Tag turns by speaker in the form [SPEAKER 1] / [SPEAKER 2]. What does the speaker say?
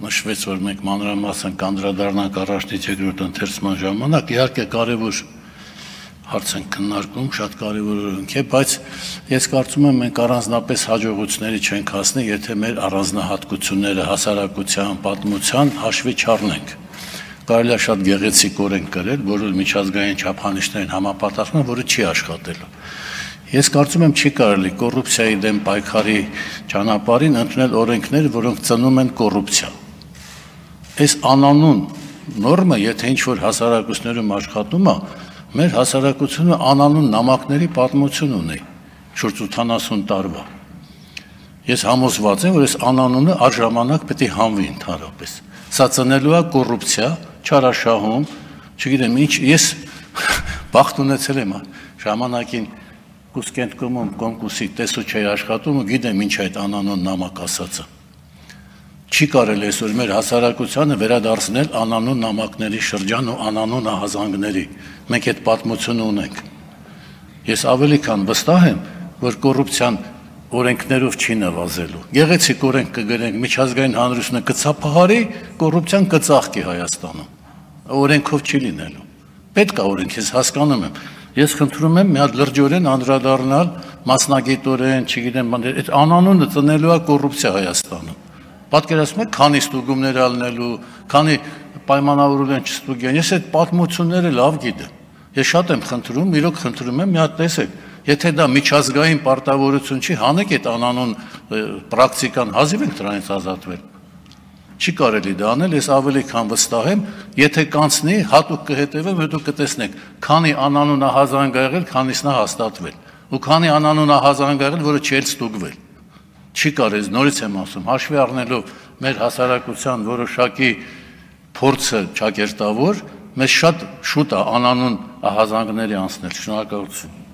[SPEAKER 1] նշվեց, որ մենք մանրամասն կանդրադառնանք առաջնից երկրորդ ընթերցման ժամանակ, իհարկե կարևոր հարց են քննարկում, շատ կարևոր օրենք է, բայց ես կարծում եմ մենք առանձնապես հաջողությունների չենք հասնի, եթե մեր առանձնահատկությունները հասարակության, պատմության հաշվի չառնենք։ Կարելի է շատ գեղեցիկ օրենք գրել, որը միջազգային չափանիշներին համապատասխանում է, որը չի աշխատելու։ Ես կարծում եմ չի կարելի կոռուպցիայի դեմ պայքարի ճանապարհին ընդունել օրենքներ, որոնք ծնում են կոռուպցիա։ Այս անանուն նորմը, եթե ինչ-որ հասարակություններում աշխատում է, մեր հասարակությունը անանուն նամակների պատմություն ունի, շուրջ 80 տարվա։ Ես համոզված եմ, որ այս անանունը առժամանակ պետք է հանվի ընդհանրապես։ Սա ծնելու է կոռուպցիա, չարաշահում, չգիտեմ ինչ, ես բախտ ունեցել եմ ժամանակին Կուսկենտկոմում կոնկուրսի տեսուչ էի աշխատում ու գիտեմ ինչ այդ անանուն նամակ ասածը։ Չի կարելի այսօր մեր հասարակությանը վերադարձնել անանուն նամակների շրջան ու անանուն ահազանգների։ Մենք այդ պատմությունը ունենք։ Ես ավելի քան վստահ եմ, որ կոռուպցիան օրենքներով չի նվազելու։ Գեղեցիկ օրենք կգրենք, միջազգային հանրությունը կցափահարի, կոռուպցիան կծաղկի Հայաստանում։ Օրենքով չի լինելու։ Պետք է օրենք, ես հասկանում եմ։ Ես խնդրում եմ մի հատ լրջորեն անդրադառնալ մասնագիտորեն, չգիտեմ, այդ անանունը ծնելու է կոռուպցիա Հայաստանում։ Պատկերացնում եք, քանի ստուգումներ ալնելու, քանի պայմանավորվել են չստուգեն։ Ես այդ պատմությունները լավ գիտեմ։ Ես շատ եմ խնդրում, իրոք խնդրում եմ, մի հատ տեսեք, եթե դա միջազգային պարտավորություն չի, հանեք այդ անանուն պրակտիկան, հազիվ ենք դրանից ազատվել։ Չի կարելի դա անել, ես ավելի քան վստահ եմ, եթե կանցնի, հատուկ կհետևեմ, հետո կտեսնեք, քանի անանուն ահազանգ ա եղել, քանիսն է հաստատվել, ու քանի անանուն ահազանգ ա եղել, որը չի ստուգվել։ Չի կարելի, նորից եմ ասում, հաշվի առնելով մեր հասարակության որոշակի փորձը ճակերտավոր, մեզ շատ շուտ է անանուն ահազանգների անցնել։ Շնորհակալություն։